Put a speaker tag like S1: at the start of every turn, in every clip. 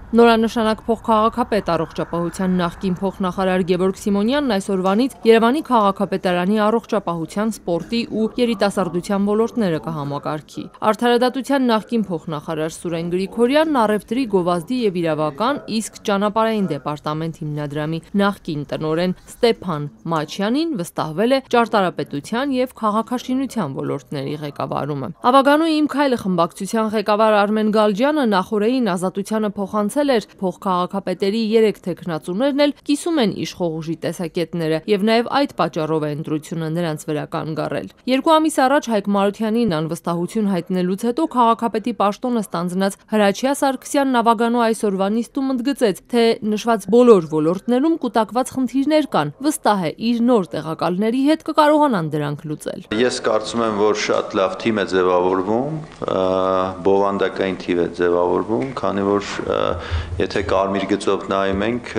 S1: Նորանշանակ փոխքաղաքապետ առողջապահության նախկին փոխնախարար Գևորգ Սիմոնյանն այսօրվանից Երևանի քաղաքապետարանի առողջապահության, սպորտի ու երիտասարդության ոլորտները կհամակարգի։ Արդարադատության նախկին փոխնախարար Սուրեն Գրիգորյանն առևտրի, գովազդի եւ իրավական, իսկ ճանապարհային դեպարտամент հիմնադրամի նախկին տնօրեն Ստեփան Մաչյանին վստահվել է ճարտարապետության եւ քաղաքաշինության ոլորտների ղեկավարումը։ Ավագանու Իմ քայլը խմբակցության ղեկավար Արմեն Գալջյանը նախորդին Ազատությանը փոխանցել էր փոխքաղաքապետերի 3 թեկնածուներն էլ կիսում են իշխող ուժի տեսակետները եւ նաեւ այդ պատճառով է ընտրությունը նրանց վրա կանգառել։ 2 ամիս առաջ Հայկ Մարությանին անվստահություն հայտնելուց հետո քաղաքապետի պաշտոնը ստանձնած Հրաչյա Սարգսյանն ավագանու այսօրվա նիստում ընդգծեց, թե նշված բոլոր ոլորտներում կուտակված խնդիրներ կան, վստահ է իր նոր տեղակալների հետ կկարողանան դրանք լուծել։
S2: Ես կարծում եմ, որ շատ լավ թիմ է ձևավորվում, բովանդակային թիվ է ձևավորվում, քանի որ եթե կարմիր գծով նայում ենք,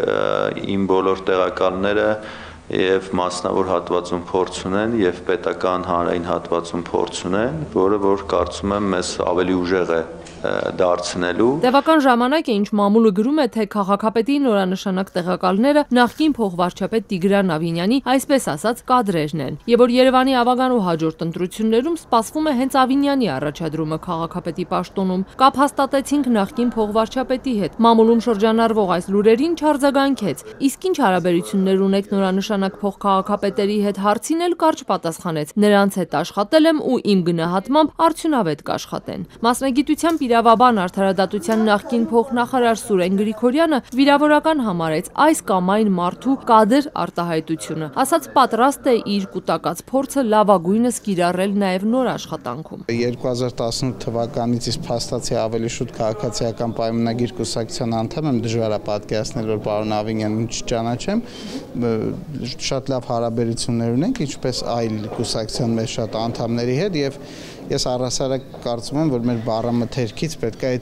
S2: իմ բոլոր տեղակալները եւ մասնավոր հատվածում փորձ ունեն եւ պետական հանրային հատվածում փորձ ունեն, որը որ կարծում եմ մեզ ավելի ուժեղ է դարձնելու։
S1: Տևական ժամանակ է, ինչ մամուլը գրում է, թե քաղաքապետի նորանշանակ տեղակալները նախկին փոխվարչապետ Տիգրան Ավինյանի, այսպես ասած, կադրերն են, եւ որ Երևանի ավագանու հաջորդ ընտրություններում սպասվում է հենց Ավինյանի առաջադրումը քաղաքապետի պաշտոնում։ Կապ հաստատեցինք նախկին փոխվարչապետի հետ։ Մամուլում շրջանառվող այս լուրերին չարձագանքեց։ Իսկ ինչ հարաբերություններ ունեք նորանշանակ փոխքաղաքապետերի հետ հարցին էլ կարճ պատասխանեց։ Նրանց հետ աշխատել եմ ու իմ գնահատմամբ արդյունավետ կաշխատեն։ Մասնագիտությամբ իրավաբան արդարադատության նախկին փոխնախարար Սուրեն Գրիգորյանը վիրավորական համարեց այս կամ այն մարդու կադր արտահայտությունը, ասաց պատրաստ է իր կուտակած փորձը լավագույնս կիրառել նաև նոր աշխատանքում։
S3: 2018 թվականից իսկ փաստացի ավելի շուտ քաղաքացիական պայմանագիր կուսակցության անդամ եմ, դժվար է պատկերացնել, որ պարոն Ավինյանին չճանաչեմ, շատ լավ հարաբերություններ ունենք, ինչպես այլ կուսակցության մեր շատ անդամների հետ եւ ես առհասարակ կարծում եմ, որ մեր բառամթերքից պետք է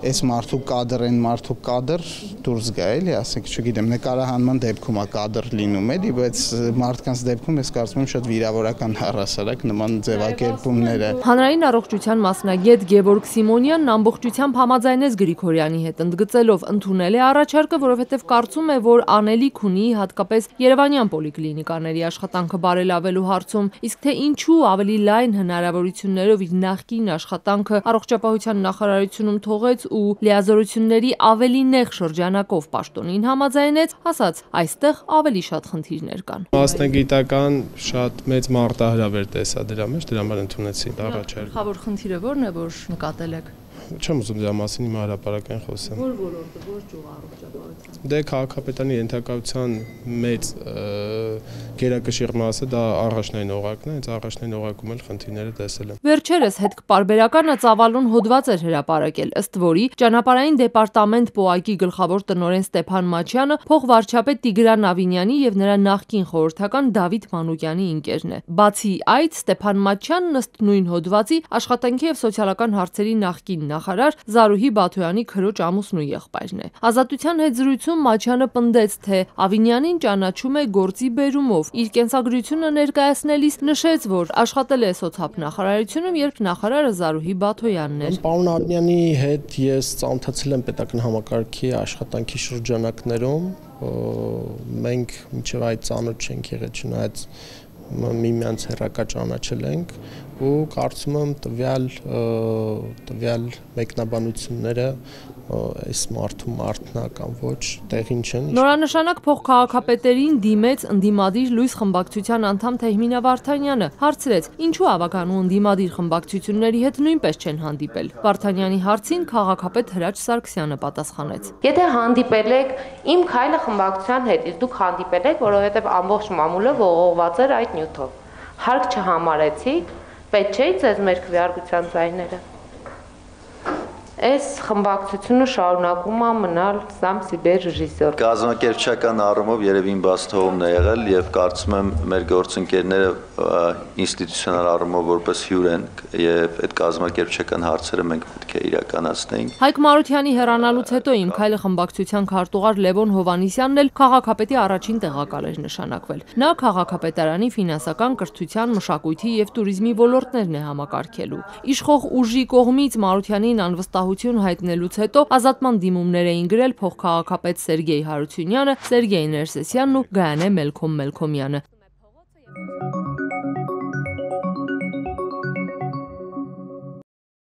S3: այս մարդու կադր, այն մարդու կադր դուրս գա, էլի, ասենք, չգիտեմ, նկարահանման դեպքում է կադր լինում, էլի, բայց մարդկանց դեպքում ես կարծում եմ շատ վիրավորական առհասարակ նման ձևակերպումները։
S1: Հանրային առողջության մասնագետ Գևորգ Սիմոնյանն ամբողջությամբ համաձայնեց Գրիգորյանի հետ, ընդգծելով ընդունել է առաջարկը, որովհետև կարծում է, որ անելիք ունի հատկապես երևանյան պոլիկլինիկաների աշխատանքը բարելավելու հարցում, իսկ թե ինչու ավելի լայն հնարավորություններով իր նախկին աշխատանքը առողջապահության նախարարությունում թողեց ու լիազորությունների ավելի նեղ շրջանակով պաշտոնին համաձայնեց, ասաց, այստեղ ավելի շատ խնդիրներ կան։
S4: Մասնագիտական շատ մեծ մարտահրավեր տեսա դրա մեջ, դրա համար ընդունեցի առաջարկը։
S1: Գլխավոր խնդիրը ո՞րն է, որ նկատել եք։
S4: Չեմ ուզում դրա մասին իմ հրապարակային խոսեմ։
S1: Ո՞ր ոլորտը, ո՞ր ճյուղ առողջապահության։
S4: Դե քաղաքապետարանի ենթակայության մեծ գերակշիռ մասը դա առաջնային օղակն է, հենց առաջնային օղակում էլ խնդիրները տեսել եմ։
S1: Վերջերս հետքպարբերականը ծավալուն հոդված էր հրապարակել, ըստ որի ճանապարհային դեպարտամент ՊՕԱԿ-ի գլխավոր տնօրեն Ստեփան Մաչյանը փոխվարչապետ Տիգրան Ավինյանի եւ նրա նախկին խորհրդական Դավիթ Մանուկյանի ընկերն է։ Բացի այդ, Ստեփան Մաչյանն ըստ նույն հոդվածի աշխատանքի եւ սոցիալական հարցերի նախկին նախարար Զարուհի Բաթոյանի քրոջ ամուսնու եղբայրն է։ Ազատության հետ զրույցում Մաչյանը պնդեց, թե Ավինյանին ճանաչում է գործի բերումով։ Իր կենսագրությունը ներկայացնելիս նշեց, որ աշխատել է սոցիալ նախարարությունում, երբ նախարարը Զարուհի Բաթոյանն էր։
S4: Պարոն Արմյանի հետ ես ծանոթացել եմ պետական համակարգի աշխատանքի շրջանակներում, մենք մինչև այդ ծանոթ չենք եղել, չնայած միմյանց հեռակա ճանաչել ենք ու կարծում եմ տվյալ մեկնաբանությունները այս մարդու մարդնական ոչ տեղին չեն։
S1: Նորանշանակ փոխքաղաքապետերին դիմեց ընդդիմադիր լույս խմբակցության անդամ Թեհմինա Վարդանյանը, հարցրեց, ինչու ավագանու ընդդիմադիր խմբակցությունների հետ նույնպես չեն հանդիպել։ Վարդանյանի հարցին քաղաքապետ Հրաչ Սարգսյանը պատասխանեց.
S5: Եթե հանդիպել եք Իմ քայլը խմբակցության հետ, իսկ դուք հանդիպել եք, որովհետև ամբողջ մամուլը ողողված էր այդ նյութով։ Հարկ չհամարեցիք, պետք չէ ձեզ մեր քվեարկության ձայները։ Այս խմբակցությունը շարունակում է մնալ սամ սիբեր ռեժիսոր։
S2: Կազմակերպչական առումով երևի իմ բաց թողումն է եղել եւ կարծում եմ մեր գործընկերները ինստիտուցիոնալ առումով որպես հյուր են եւ այդ կազմակերպչական հարցերը մենք պետք է իրականացնենք։
S1: Հայկ Մարությանի հեռանալուց հետո Իմ քայլը խմբակցության քարտուղար Լևոն Հովհաննիսյանն էլ քաղաքապետի առաջին տեղակալ էր նշանակվել։ Նա քաղաքապետարանի ֆինանսական, կրթության, մշակույթի եւ туриզմի ոլորտներն է համակարգելու։ Իշխող ուժի կողմից Մարությանին անվստահ առողջապահություն հայտնելուց հետո ազատման դիմումներ էին գրել փոխքաղաքապետ Սերգեյ Հարությունյանը, Սերգեյ Ներսեսյանն ու Գայանե Մելքոմ Մելքոմյանը։